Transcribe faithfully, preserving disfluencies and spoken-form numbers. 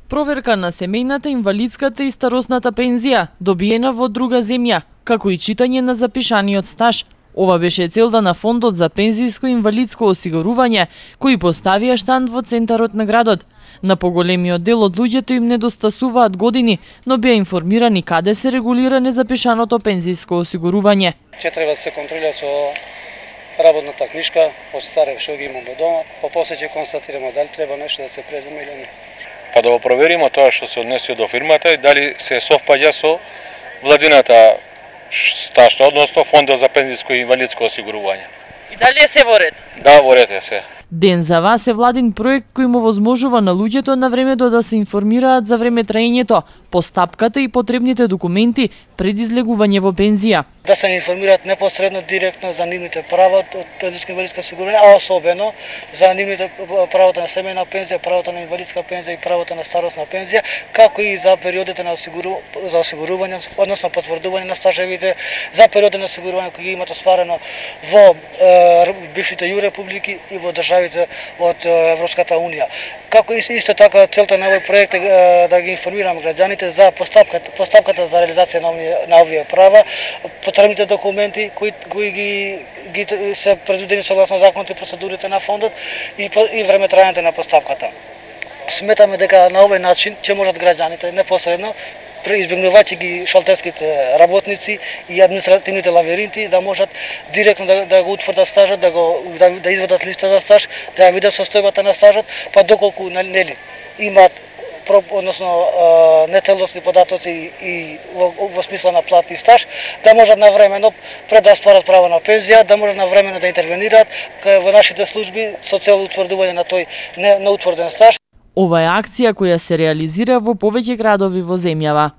Проверка на семејната, инвалидската и старосната пензија, добиена во друга земја, како и читање на запишаниот стаж. Ова беше целта на Фондот за пензиско и инвалидско осигурување, кои поставија штанд во центарот на градот. На поголемиот дел од луѓето им недостасуваат години, но беа информирани каде се регулира незапишаното пензиско осигурување. Че треба да се контролира со работната книжка, од старе што ги имаме дома, па после ќе констатираме дали треба нешто да се преземе или не. Па да го провериме тоа што се однесе до фирмата и дали се совпаѓа со владината стажна, односно Фондот за пензиско и инвалидско осигурување. И дали е се во ред? Да, во ред е се. Ден за вас е владин проект кој му возможува на луѓето на времето да се информираат за време траењето, постапката и потребните документи пред излегување во пензија. Да се информираат непосредно директно за нивните права од пензиско и инвалидско осигурување, а особено за нивните правото на семејна пензија, правото на инвалидска пензија и правото на старосна пензија, како и за периодите на осигуру... за осигурување, односно потврдување на стажевите, за периодите на осигурување кои ги имат остварено во е, бившите ју републики и во државите од Европската унија. Како и исто така целта на овој проект е да ги информираме граѓаните за постапката, постапката за реализација на овие, на овие права, потребните документи кои, кои ги, ги се предвидени согласно законите и процедурите на фондот и, и време траењето на постапката. Сметаме дека на овој начин ќе можат граѓаните непосредно, избегнувајќи ги шалтерските работници и административните лавиринти, да можат директно да, да го утврдат стажот, да го да, да извадат листа за стаж, да ја видат состојбата на стажот, па доколку нели имаат односно нецелосни податоци и во, во смисла на плат и стаж, да можат навремено пред да стварат право на пензија, да можат навремено да интервенираат во нашите служби со цел утврдување на тој неутврден стаж. Ова е акција која се реализира во повеќе градови во земјава.